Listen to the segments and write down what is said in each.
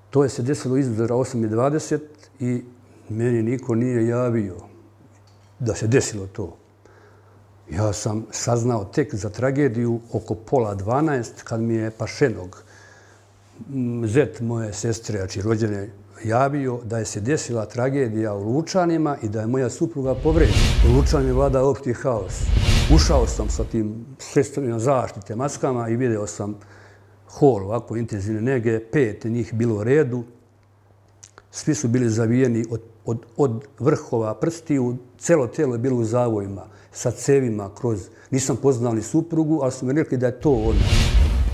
To je se desilo izuzora 8:20 i meni niko nije javio da se desilo to. Ja sam saznao tek za tragediju oko 11:30 kad mi je Pašenog, zet moje sestre, znači rođene, javio da je se desila tragedija u Lučanima i da je moja supruga povređena. U Lučanima vlada opšti haos. Ušao sam sa tim sredstvima zaštite, maskama i video sam hol ovako intenzivne nege, 5 njih bilo u redu. Svi su bili zavijeni od vrhova prstiju, celo telo je bilo u zavojima, sa cevima kroz... Nisam poznao ni suprugu, ali su mi rekli da je to ona.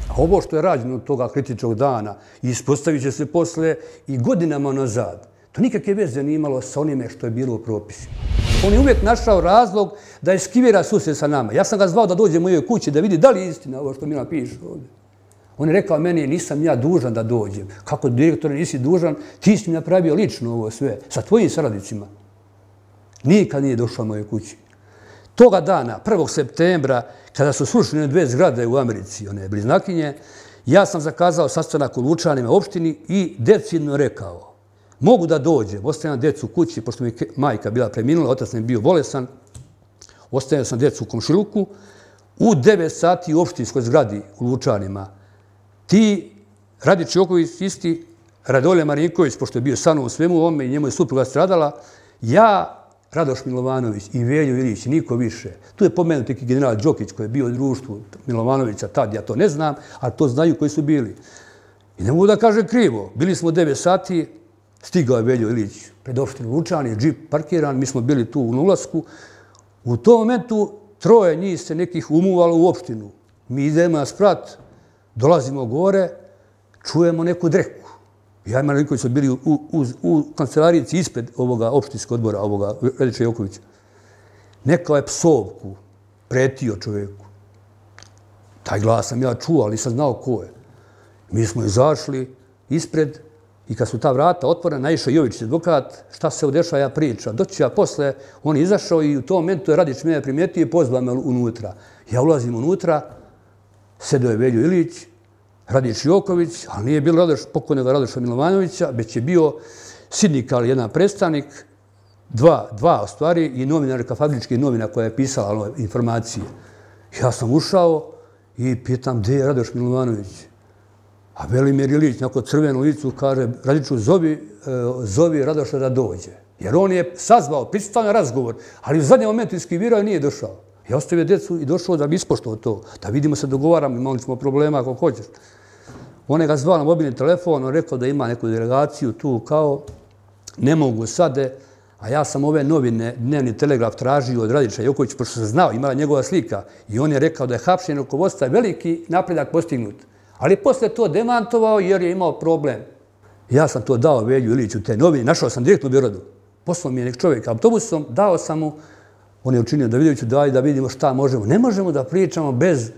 A ovo što je rađeno od toga kritičnog dana ispostavit će se posle i godinama nazad. To nikakve veze nije imalo sa onime što je bilo u propisima. On je uvijek našao razlog da eskivira susjed sa nama. Ja sam ga zvao da dođe u mojoj kući da vidi da li je istina ovo što Milan piše ovdje. On je rekao meni, nisam ja dužan da dođem. Kako direktore nisi dužan, ti si mi napravio lično ovo sve, sa tvojim saradnicima. Nikad nije došao u mojoj kući. Toga dana, 1. septembra, kada su srušene 2 zgrade u Americi, one bliznakinje, ja sam zakazao sastanak u Lučanima opštini i decidno rekao, mogu da dođem, ostavljam djecu u kući, pošto mi majka bila preminula, otac mi je bio bolesan, ostavljam sam djecu u komšiluku, u 9 sati u opštinskoj zgradi u Lučanima. Ti, Radić Joković isti, Radolje Marinković, pošto je bio sa mnom u svemu ovome i njemu je supruga stradala, ja, Radoš Milovanović i Veljo Ilić, niko više. Tu je pomenut neki general Đokić koji je bio u društvu Milovanovića tad, ja to ne znam, ali to znaju koji su bili. I ne mogu da kažem krivo. Bili smo 9 sati, stigao je Veljo Ilić pred opštinu Lučani, džip parkiran, mi smo bili tu u ulasku. U tom momentu 3 njih se nekih umuvalo u opštinu. Mi idemo na sprat, dolazimo gore, čujemo neku dreku. Ja i Marinković su bili u kancelarijici ispred ovoga opštinskog odbora, ovoga Radića Jokovića. Nekao je psovku, pretio čovjeku. Taj glas sam ja čuo, ali nisam znao ko je. Mi smo izašli ispred i kad su ta vrata otvorena, naišao Jović, advokat, šta se dešava, ja pričam. Doći ja posle, on je izašao i u tom momentu je Radić mene primijetio i pozvao me unutra. Ja ulazim unutra, sedeo je Veljo Ilić, Radić Joković, ali nije bilo pokojnog Radoša Milovanovića, već je bio sindikal, jedan predstavnik, dva u stvari, i novinarka fabričkih novina koja je pisala informacije. Ja sam ušao i pitam gdje je Radoš Milovanović. A Velimir Ilić, nakon crvenu licu, kaže Radiću, zovi Radoša da dođe. Jer on je sazvao, pristao na razgovor, ali u zadnjem momentu iskivirao i nije došao. Ja ostavio djecu i došao da bi ispoštovao to. Da vidimo se, dogovaramo, imali smo problema ako hoćeš. On je ga zvao na mobilni telefon, on rekao da ima neku delegaciju tu kao ne mogu sade, a ja sam ove novine, Dnevni telegraf, tražio od Radića Jokovića, pošto sam znao, imala njegova slika. I on je rekao da je hapšenje rukovodstva veliki napredak postignut. Ali posle to demantovao jer je imao problem. Ja sam to dao Velju Iliću te novine, našao sam direktno u Beogradu. Poslao mi je nek čovjek autobusom, dao sam mu. On je učinio Davidoviću, daj da vidimo šta možemo. Ne možemo da pričamo bez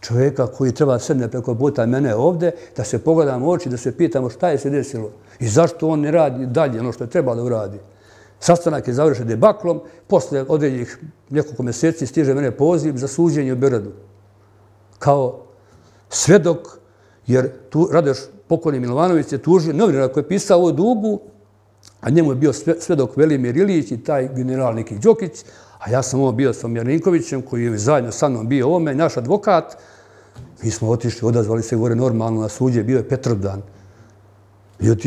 čovjeka koji treba sedne preko puta mene ovdje, da se pogledamo u oči, da se pitamo šta je se desilo i zašto on ne radi dalje ono što je trebalo da uradi. Sastanak je završen debaklom, posle određenih nekoliko mjeseci stiže mene poziv za suđenje u Beogradu. Kao svedok, jer tu Radoš pokojni Milovanović je tužio novinara koji je pisao ovu dugu, a njemu je bio svedok Velimir Ilić i taj general neki Đokić, a ja sam ovo bio sa Marinkovićem koji je zajedno sa mnom bio ovome, naš advokat. Mi smo otišli, odazvali se gore normalno na suđe, bio je Petrovdan.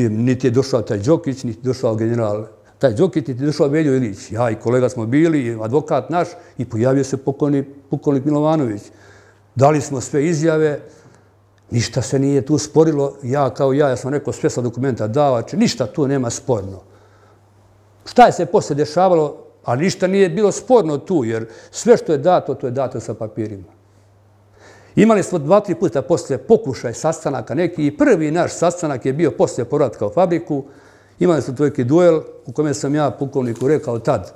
Niti je došao taj Đokić, niti je došao general taj Đokić, niti je došao Veljo Ilić. Ja i kolega smo bili, advokat naš, i pojavio se pokojnik Milovanović. Dali smo sve izjave, ništa se nije tu sporilo. Ja sam rekao sve sa dokumenta dao, ništa tu nema sporno. Šta je se posle dešavalo? A ništa nije bilo sporno tu, jer sve što je dato, to je dato sa papirima. Imali smo 2-3 puta posle pokušaj sastanaka neki i prvi naš sastanak je bio posle povratka u fabriku. Imali smo tvojki duel u kome sam ja pukovniku rekao tad,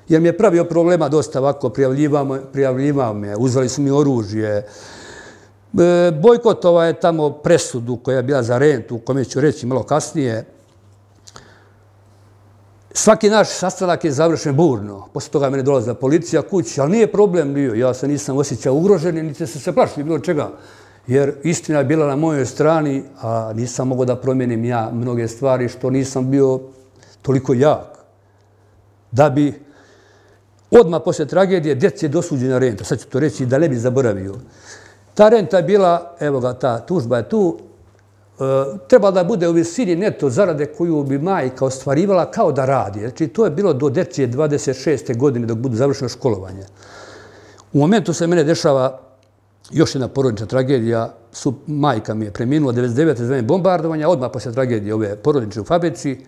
jer mi je pravio problema dosta ovako, prijavljivao me, uzeli su mi oružje. Bojkotova je tamo presudu koja je bila za rentu, u kome ću reći malo kasnije. Svaki naš sastanak je završen burno. Posle toga mene dolazila policija kući, ali nije problem bio. Ja se nisam osjećao ugrožen, niti se plašio bilo čega. jer istina je bila na mojoj strani, a nisam mogao da promijenim ja mnoge stvari što nisam bio toliko jak. Da bi odmah poslije tragedije djeci je dosuđena renta. Sad ću to reći da ne bi zaboravio. Ta renta je bila, evo ga, ta tužba je tu, treba da bude u visini neto zarade koju bi majka ostvarivala kao da radi. Znači, to je bilo do dječje 26. godine dok budu završeno školovanje. U momentu se mene dešava još jedna porodična tragedija. Majka mi je preminula 99. za vreme bombardovanja, odmah poslije tragedije ove porodične u fabrici.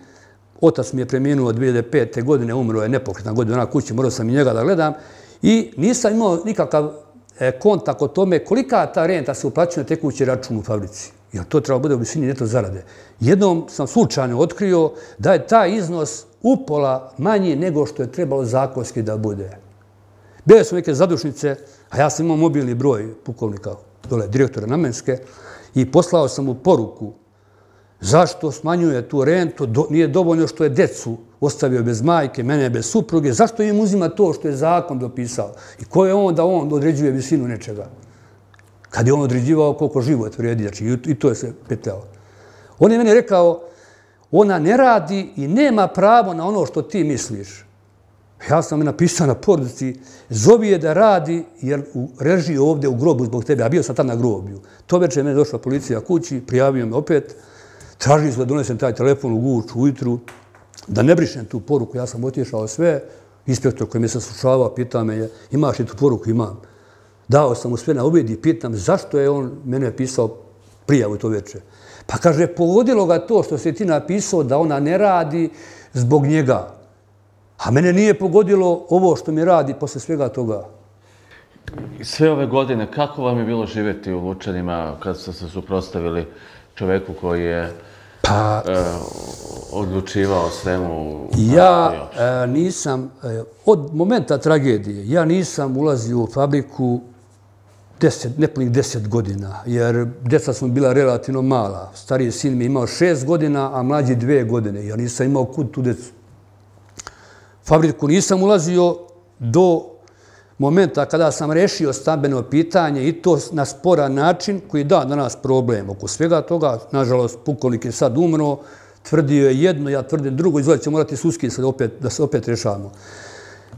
Otac mi je preminuo 2005. godine, umro je nepokretna godina na kući, morao sam i njega da gledam. I nisam imao nikakav kontakt o tome kolika ta renta se uplaćuje na tekući račun u fabrici. Jer to treba bude u visini neto zarade. Jednom sam slučajno otkrio da je taj iznos upola manji nego što je trebalo zakonski da bude. Bile su neke zadušnice, a ja sam imao mobilni broj pukovnika, dole, direktora Namenske, i poslao sam mu poruku zašto smanjuje tu rentu, nije dovoljno što je decu ostavio bez majke, mene bez supruge, zašto im uzima to što je zakon dopisao i ko je on da on određuje visinu nečega. Kad je on određivao koliko život vrijedi, znači i to je se petljao. On je meni rekao, ona ne radi i nema pravo na ono što ti misliš. Ja sam napisao na porodici, zovi je da radi jer reži ovdje u grobu zbog tebe, a bio sam tam na groblju. To večer je došla policija kući, prijavio me opet, tražili su da donesem taj telefon u Guču ujutru, da ne brišem tu poruku, ja sam otišao sve, inspektor koji me saslušavao pita me, imaš li tu poruku? Imam. Dao sam mu sve na uvid i pitam zašto je on mene pisao prijavu to večer. Pa kaže, pogodilo ga to što si ti napisao da ona ne radi zbog njega. A mene nije pogodilo ovo što mi radi posle svega toga. Sve ove godine, kako vam je bilo živjeti u Lučanima kad ste se suprotstavili čoveku koji je odlučivao svemu? Ja nisam, od momenta tragedije, ja nisam ulazio u fabriku nepunih 10 godina, jer djeca smo bila relativno mala. Stariji sin mi je imao 6 godina, a mlađi 2 godine. Ja nisam imao kud tu djecu. Fabriku nisam ulazio do momenta kada sam rešio stambeno pitanje i to na sporan način koji da danas problem oko svega toga. Nažalost, pukovnik je sad umro, tvrdio je jedno, ja tvrdim drugo, izgleda će morati sudski da se opet rešavamo.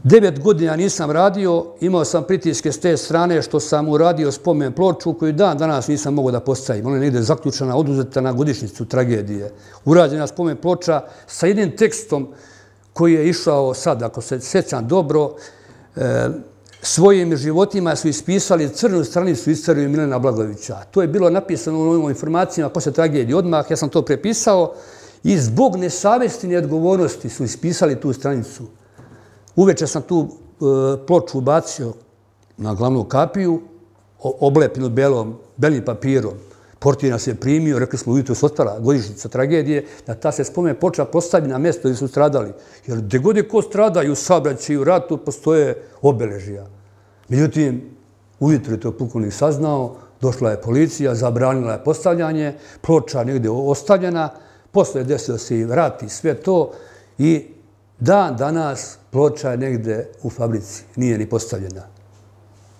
9 godina nisam radio, imao sam pritiske s te strane što sam uradio spomen ploču koju dan danas nisam mogao da postavim. Ona je negdje zaključana, oduzeta na godišnjicu tragedije. Urađena spomen ploča sa jednim tekstom koji je išao sad, ako se sjećam dobro, svojim životima su ispisali crnu stranicu istoriju Milena Blagojevića. To je bilo napisano u ovim informacijama posle tragedije odmah, ja sam to prepisao i zbog nesavesti i neodgovornosti su ispisali tu stranicu. Uveče sam tu ploču ubacio na glavnu kapiju, oblepinu belim papirom. Portir nas je primio, rekli smo ujutro se otvara godišnjica tragedije, da ta se spomen ploča postavi na mjesto gdje su stradali. Jer gdje god je ko stradaju u saobraćaju i u ratu, postoje obeležija. Međutim, ujutro je to pukovnik saznao, došla je policija, zabranila je postavljanje, ploča negdje ostavljena, posle je desilo se i rat i sve to i dan danas ploča je negdje u fabrici, nije ni postavljena.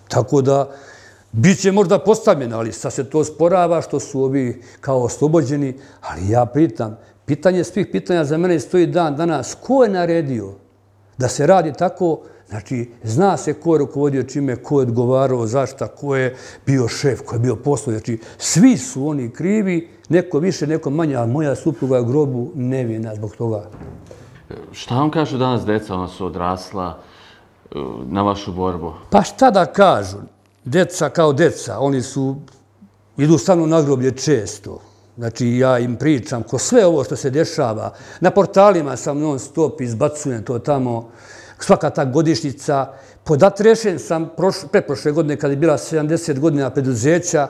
Tako da, bit će možda postavljena, ali sad se to sporava što su ovi kao oslobođeni, ali ja pitam, pitanje svih pitanja za mene stoji dan danas, ko je naredio da se radi tako, znači zna se ko je rukovodio čime, ko je odgovarao zašta, ko je bio šef, ko je bio poslovni, znači svi su oni krivi, neko više, neko manje, a moja supruga je u grobu nevina zbog toga. Šta vam kažu danas deca, ona su odrasla na vašu borbu? Pa šta da kažu? Deca kao deca, oni idu stvarno na groblje često. Znači, ja im pričam ko sve ovo što se dešava. Na portalima sam non stop, izbacujem to tamo, svaka ta godišnjica. Podatrešen sam pretprošle godine kada je bila 70 godina preduzeća.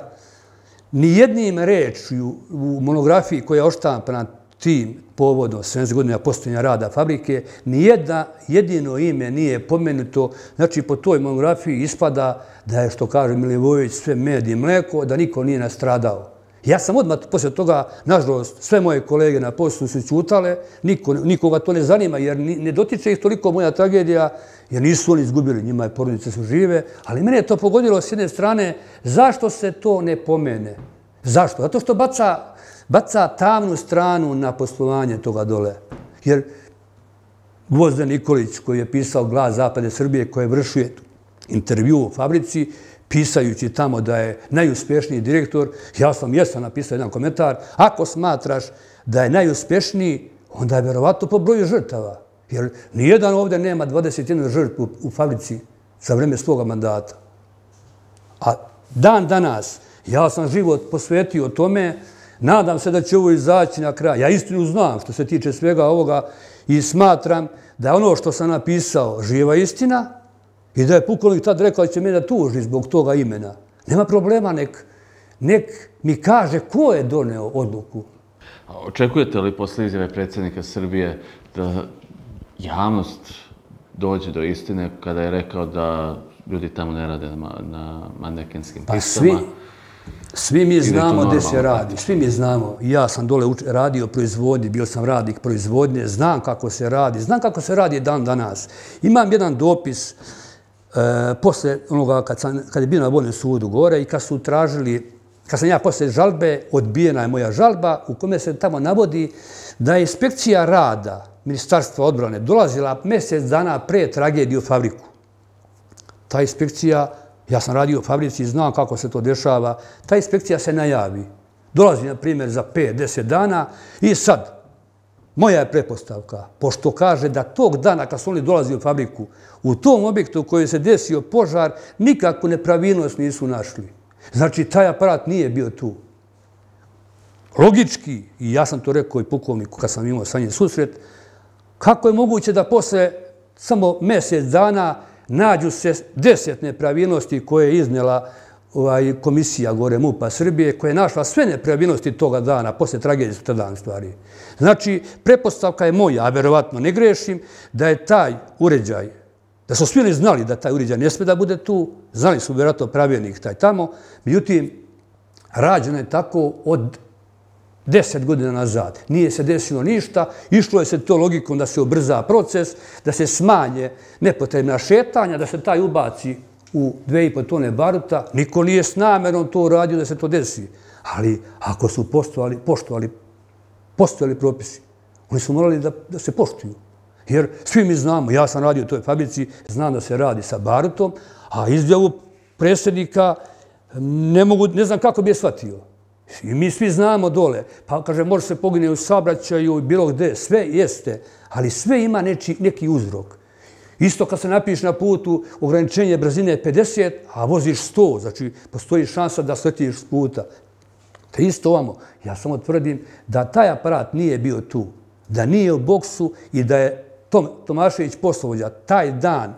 Nijednim rečju u monografiji koja je oštampana tim povodom 70 godina postojanja rada fabrike, jedino ime nije pomenuto. Znači, po toj monografiji ispada da je, što kaže Milivojević, sve med i mleko, da niko nije nastradao. Ja sam odmah poslije toga, nažalost, sve moje kolege na poslu su ćutale, nikoga to ne zanima, jer ne dotiče ih toliko moja tragedija, jer nisu oni izgubili, njima je porodice su žive, ali mene je to pogodilo s jedne strane, zašto se to ne pomene? Zašto? Zato što baca tamnu stranu na poslovanje toga dole. Jer Gvozden Nikolić, koji je pisao Glas Zapadne Srbije, koji je vršio intervju u fabrici, pisajući tamo da je najuspješniji direktor, ja sam napisao jedan komentar, ako smatraš da je najuspješniji, onda je verovatno po broju žrtava. Jer nijedan ovdje nema 21 žrtvu u fabrici za vreme svoga mandata. A dan danas, ja sam život posvetio tome, nadam se da će ovo izaći na kraj. Ja istinu znam što se tiče svega ovoga i smatram da je ono što sam napisao živa istina i da je pukovnik tad rekao da će me da tuži zbog toga imena. Nema problema, nek mi kaže ko je doneo odluku. Očekujete li posle izjave predsjednika Srbije da javnost dođe do istine kada je rekao da ljudi tamo ne rade na manekenskim pistama? Svi mi znamo gdje se radi, svi mi znamo. Ja sam dole radio proizvodnje, bio sam radnik proizvodnje, znam kako se radi dan danas. Imam jedan dopis posle onoga kad je bio na Vojnom sudu gore i kad su tražili, kad sam ja posle žalbe, odbijena je moja žalba u kome se tamo navodi da je inspekcija rada Ministarstva odbrane dolazila mjesec dana pre tragedije u fabriku. Ta inspekcija, ja sam radio u fabrici i znam kako se to dešava, ta inspekcija se najavi. Dolazi, na primjer, za 5-10 dana i sad, moja je pretpostavka, pošto kaže da tog dana kad su oni dolazili u fabriku, u tom objektu u kojoj se desio požar, nikakvu nepravilnost nisu našli. Znači, taj aparat nije bio tu. Logički, i ja sam to rekao i pukovniku kad sam imao sa njim susret, kako je moguće da posle samo mjesec dana nađu se 10 nepravilnosti koje je iznela komisija gore MUP-a Srbije, koja je našla sve nepravilnosti toga dana, posle tragedije su tada dan stvari. Znači, pretpostavka je moja, a verovatno ne grešim, da je taj uređaj, da su svi znali da taj uređaj ne sme da bude tu, znali su vjerojatno pravilnik taj tamo, međutim, rađeno je tako od 10 godina nazad. Nije se desilo ništa, išlo je se to logikom da se ubrza proces, da se smanje nepotrebna šetanja, da se taj ubaci u 2,5 tone baruta. Niko nije s namerom to uradio da se to desi. Ali ako su postojali propisi, oni su morali da se poštuju. Jer svi mi znamo, ja sam radio u toj fabrici, znam da se radi sa barutom, a izjavu predsjednika ne znam kako bi je shvatio. I mi svi znamo dole, pa kaže može se pogine u saobraćaju i bilo gde, sve jeste, ali sve ima neki uzrok. Isto kad se napiše na putu ograničenje brzine 50, a voziš 100, znači postoji šansa da sletiš s puta. To je isto ovamo. Ja samo tvrdim da taj aparat nije bio tu, da nije u boksu i da je Tomašević poslovođa taj dan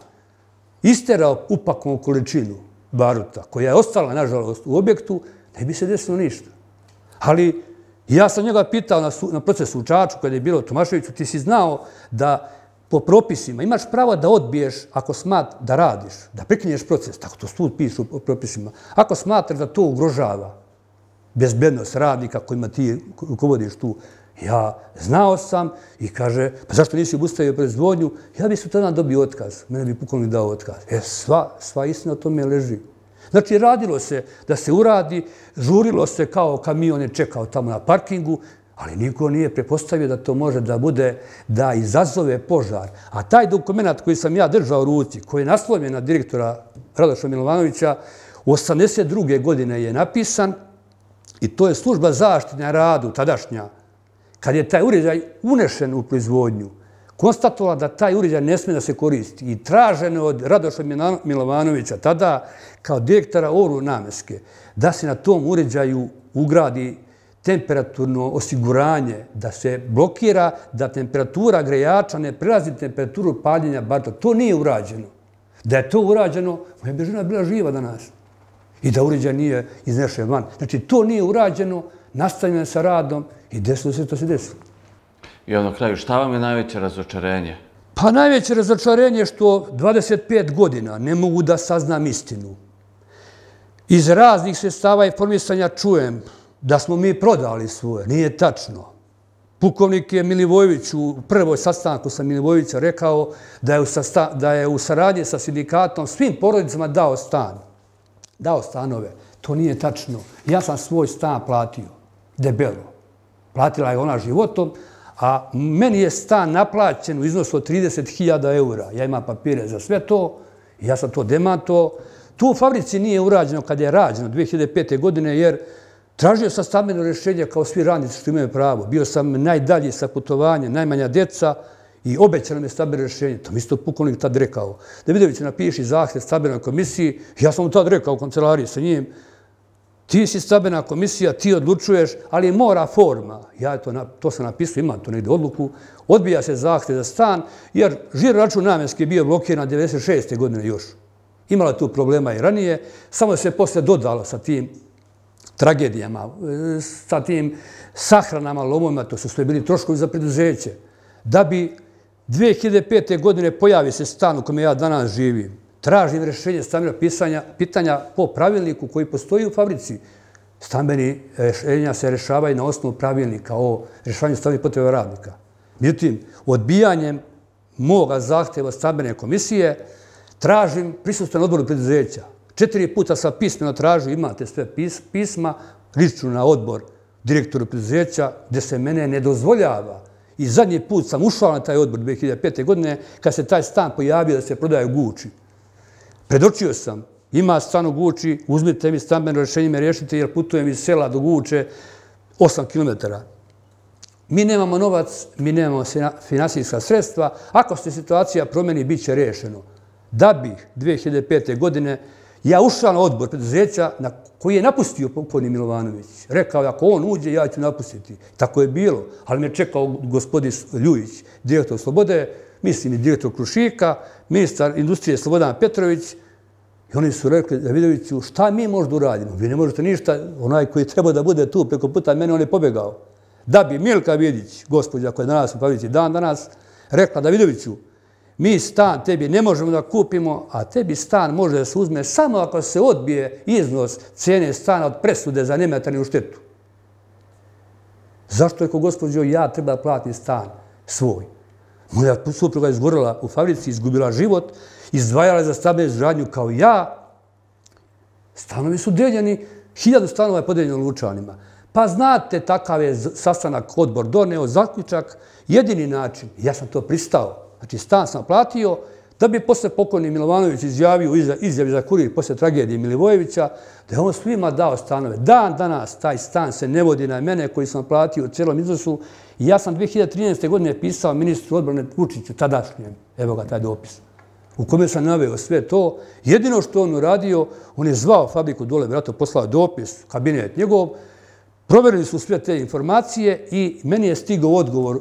isterao upakovnu količinu baruta, koja je ostala, nažalost, u objektu, ne bi se desilo ništa. Ali ja sam njega pitao na procesu u Čačku, kada je bilo Tomaševiću, ti si znao da po propisima imaš pravo da odbiješ ako smatraš da radiš, da prekinješ proces, tako to sud piše u propisima, ako smatraš da to ugrožava bezbednost radnika kojima ti rukovodiš tu. Ja znao sam i kaže, pa zašto nisi obustavio proizvodnju? Ja bi su tada dobio otkaz, mene bi pukovnik dao otkaz. Sva istina o tome leži. Znači, radilo se da se uradi, žurilo se kao kamion je čekao tamo na parkingu, ali niko nije prepostavio da to može da bude, da izazove požar. A taj dokument koji sam ja držao u ruci, koji je naslovljen na direktora Radoša Milovanovića, u 1982. godine je napisan i to je služba zaštite na radu, tadašnja, kad je taj uređaj unešen u proizvodnju, konstatovala da taj uređaj ne smije da se koristi i traženo od Radoša Milovanovića, tada kao direktora Oru Namenske, da se na tom uređaju ugradi temperaturno osiguranje, da se blokira, da temperatura grejača ne prelazi temperaturu paljenja baruta. To nije urađeno. Da je to urađeno, moja bi žena bila živa danas. I da uređaj nije iznešen van. Znači, to nije urađeno, nastavljeno sa radom i desilo se to se desilo. I na kraju, šta vam je najveće razočarenje? Pa najveće razočarenje je što 25 godina ne mogu da saznam istinu. Iz raznih sredstava informisanja čujem da smo mi prodali svoje. Nije tačno. Pukovnik je Milivojević u prvoj sastanku sa Milivojevića rekao da je u saradnji sa sindikatom svim porodicama dao stan. Dao stanove. To nije tačno. Ja sam svoj stan platio. Debelo. Platila je ona životom, a meni je stan naplaćen u iznosu od 30.000 eura. Ja imam papire za sve to i ja sam to demantovao. Tu u fabrici nije urađeno kad je rađeno 2005. godine, jer tražio sam stambeno rješenje kao svi radnici što imaju pravo. Bio sam najdalji sa putovanjem, najmanja djeca i obećano mi je stambeno rješenje. To mi isto pukovnik tad rekao. Davidović napiši zahtjev stambenoj komisiji. Ja sam mu tad rekao u kancelariji sa njim, ti si stambena komisija, ti odlučuješ, ali mora forma. Ja to sam napisao, imam to negdje odluku. Odbija se zahtjev za stan, jer žiro račun namjenski je bio blokiran 96. godine još. Imala tu problema i ranije, samo se posle dodalo sa tim tragedijama, sa tim sahranama, lomovima, to su sve bili troškovi za preduzeće. Da bi 2005. godine pojavi se stan u kome ja danas živim, tražim rješenje stambenog pitanja po pravilniku koji postoji u fabrici. Stambeni rješenja se rješavaju na osnovu pravilnika o rješavanju stambenih potreba radnika. Međutim, odbijanjem moga zahtjeva stambene komisije tražim prisustvo na odboru preduzeća. 4 puta sam pismeno tražio, imate sve pisma, lično na odbor direktoru preduzeća, gdje se mene ne dozvoljava. I zadnji put sam ušao na taj odbor 2005. godine, kad se taj stan pojavio da se prodaje u Guči. Predočio sam, ima stan u Guči, uzmite mi stambeno rješenje, me riješite jer putujem iz sela do Guče 8 km. Mi nemamo novac, mi nemamo finansijska sredstva. Ako se situacija promeni, bit će rješeno. Da bi 2005. godine ja ušao na odbor preduzeća koji je napustio pokojni Milovanović. Rekao je, ako on uđe, ja ću napustiti. Tako je bilo, ali me čekao gospodin Ljujić, direktor Slobode, mislim i direktor Krušika, ministar industrije Slobodan Petrović. I oni su rekli Davidoviću, šta mi možda uradimo? Vi ne možete ništa, onaj koji treba da bude tu preko puta mene, on je pobegao. Da bi Milka Vidić, gospođa koja je danas u Pavici dan danas, rekla Davidoviću, mi stan tebi ne možemo da kupimo, a tebi stan može da se uzme samo ako se odbije iznos cijene stana od presude za nematerijalnu štetu. Zašto je ko gospođo ja treba platiti stan svoj? Moja supruga je izgorela u fabrici, izgubila život, izdvajala za stambenu izgradnju kao ja. Stanovi su deljeni, 1000 stanova je podeljeno Lučanima. Pa znate, takav je sastanak odbor doneo, zaključak, jedini način, ja sam to pristao. Znači, stan sam platio, da bi posle pokojni Milovanović izjavio izjavi za kurir posle tragedije Milivojevića, da je on svima dao stanove. Dan danas taj stan se ne vodi na mene koji sam platio u cijelom iznosu. I ja sam 2013. godine pisao ministru odbrane Vučiću, tadašnjem, evo ga taj dopis, u kome sam naveo sve to. Jedino što on uradio, on je zvao fabriku dole, vjerojatno poslao dopis, kabinet njegov, proverili su sve te informacije i meni je stigao odgovor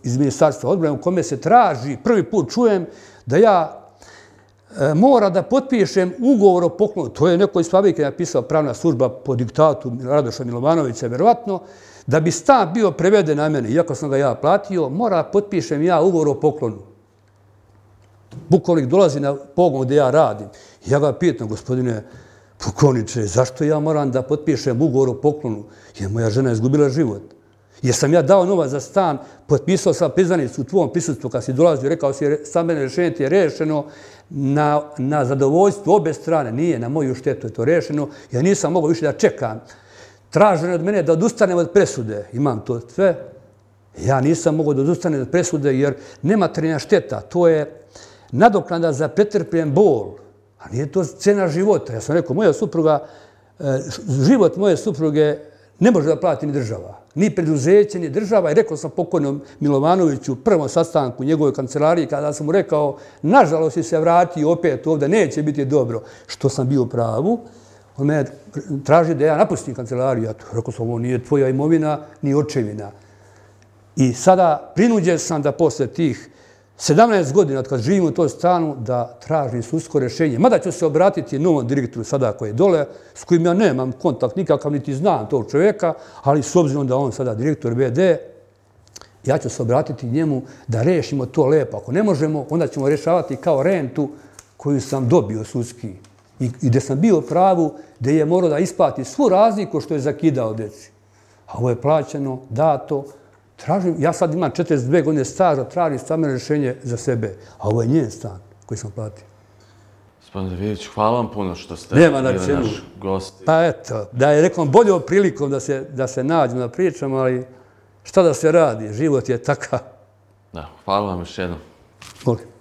iz Ministarstva odbrane u kome se traži, prvi put čujem, da ja mora da potpišem ugovor o poklonu. To je neko iz fabrike napisao pravna služba po diktatu Radoša Milovanovića, vjerovatno, da bi stan bio preveden na mene, iako sam ga ja platio, mora potpišem ja ugovor o poklonu. Pukovnik dolazi na pogon gdje ja radim. Ja ga pitam, gospodine pukovniče, zašto ja moram da potpišem ugovor o poklonu? Jer moja žena je izgubila život. Jer sam ja dao novac za stan, potpisao sam priznanicu u tvom prisustvu kad si dolazio, rekao si stambeno rješenje ti je rešeno na zadovoljstvo obe strane. Nije, na moju štetu je to rešeno. Ja nisam mogao više da čekam. Traženo je od mene da odustanem od presude. Imam to sve. Ja nisam mogao da odustanem od presude jer nematerijalna šteta. To je nadoknada za pretrpljen bol. A nije to cena života. Ja sam rekao, moja supruga, život moje supruge ne može da plati ni država. Ni preduzeće, ni država. I rekao sam pokojnom Milovanoviću u prvom sastanku u njegovoj kancelariji kada sam mu rekao, nažalost si se vratio opet ovdje, neće biti dobro. Što sam bio u pravu. On me traži da ja napustim kancelariju. Ja rekao sam, ovo nije tvoja imovina, ni očevina. I sada prinuđen sam da posle tih 17 godina od kad živim u toj stanu da tražim sudsko rješenje. Mada ću se obratiti novom direktoru sada koji je dole, s kojim ja nemam kontakt nikakav, niti znam tog čovjeka, ali s obzirom da on sada direktor VD, ja ću se obratiti njemu da rešimo to lepo. Ako ne možemo, onda ćemo rješavati kao rentu koju sam dobio sudski. I gdje sam bio u pravu, gdje je morao da isplati svu razliku što je zakidao deci. A ovo je plaćeno, dato. Ja sad imam 42 godine staža, tražim stambeno rješenje za sebe. A ovo je njen stan koji sam platio. Gospodin Davidović, hvala vam puno što ste bili naš gost. Pa eto, da je rekom boljom prilikom da se nađu na pričama, ali šta da se radi, život je takav. Da, hvala vam još jednom. Molim.